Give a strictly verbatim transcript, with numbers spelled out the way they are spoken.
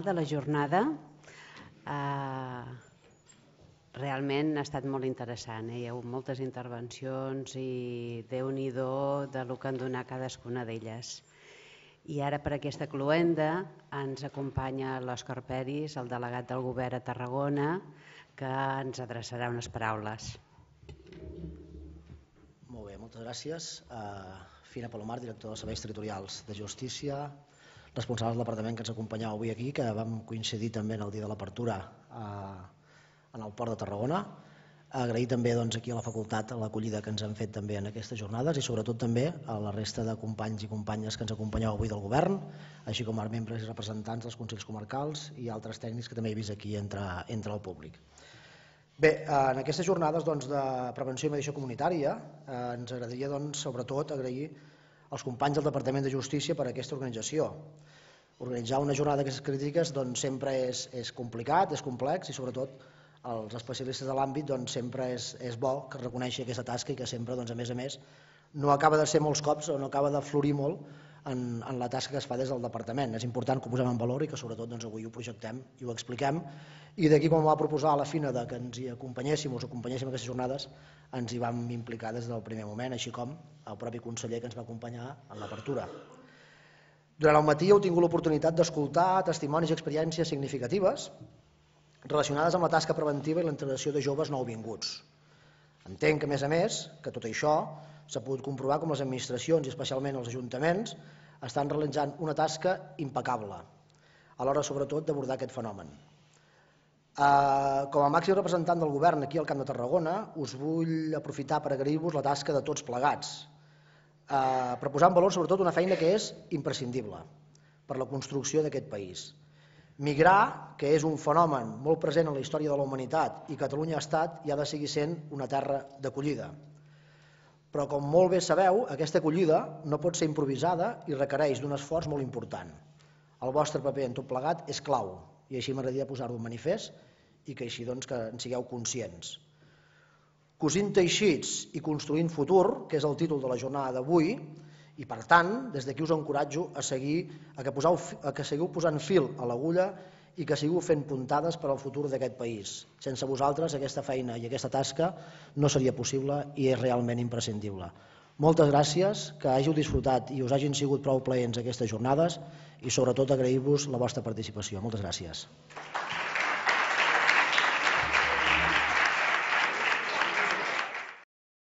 de la jornada realment ha estat molt interessant. Hi ha hagut moltes intervencions i Déu-n'hi-do del que han donat cadascuna d'elles. I ara per aquesta cloenda ens acompanya l'Òscar Peris, el delegat del Govern a Tarragona, que ens adreçarà unes paraules. Molt bé, moltes gràcies. Fina Palomar, director dels Serveis Territorials de Justícia, responsable del departament que ens acompanyava avui aquí, que vam coincidir també en el dia de l'apertura en el Port de Tarragona. Agrair també aquí a la facultat l'acollida que ens han fet també en aquestes jornades i sobretot també a la resta de companys i companyes que ens acompanyeu avui del govern, així com a membres i representants dels consells comarcals i altres tècnics que també he vist aquí entre el públic. Bé, en aquestes jornades de prevenció i mediació comunitària ens agradaria sobretot agrair als companys del Departament de Justícia per aquesta organització. Organitzar una jornada d'aquestes crítiques sempre és complicat, és complex i sobretot els especialistes de l'àmbit sempre és bo que reconeixi aquesta tasca i que sempre, a més a més, no acaba de ser molts cops o no acaba de florir molt en la tasca que es fa des del departament. És important que ho posem en valor i que sobretot avui ho projectem i ho expliquem. I d'aquí, com va proposar a la Fina que ens hi acompanyéssim o us acompanyéssim en aquestes jornades, ens hi vam implicar des del primer moment, així com el propi conseller que ens va acompanyar en l'apertura. Durant el matí heu tingut l'oportunitat d'escoltar testimonis i experiències significatives relacionades amb la tasca preventiva i la integració de joves nouvinguts. Entenc que, a més a més, que tot això s'ha pogut comprovar com les administracions i especialment els ajuntaments estan realitzant una tasca impecable a l'hora, sobretot, d'abordar aquest fenomen. Com a màxim representant del govern aquí al Camp de Tarragona, us vull aprofitar per agrair-vos la tasca de tots plegats, per posar en valor, sobretot, una feina que és imprescindible per la construcció d'aquest país. Migrar, que és un fenomen molt present en la història de la humanitat i Catalunya ha estat i ha de seguir sent una terra d'acollida. Però, com molt bé sabeu, aquesta acollida no pot ser improvisada i requereix d'un esforç molt important. El vostre paper en tot plegat és clau i així m'agradaria posar-ho en manifest i que així en sigueu conscients. Cosint teixits i construint futur, que és el títol de la jornada d'avui, i per tant, des d'aquí us encoratjo a seguir, a que seguiu posant fil a l'agulla i que seguiu fent puntades per al futur d'aquest país. Sense vosaltres aquesta feina i aquesta tasca no seria possible i és realment imprescindible. Moltes gràcies, que hàgiu disfrutat i us hagin sigut prou plaents aquestes jornades i sobretot agrair-vos la vostra participació. Moltes gràcies.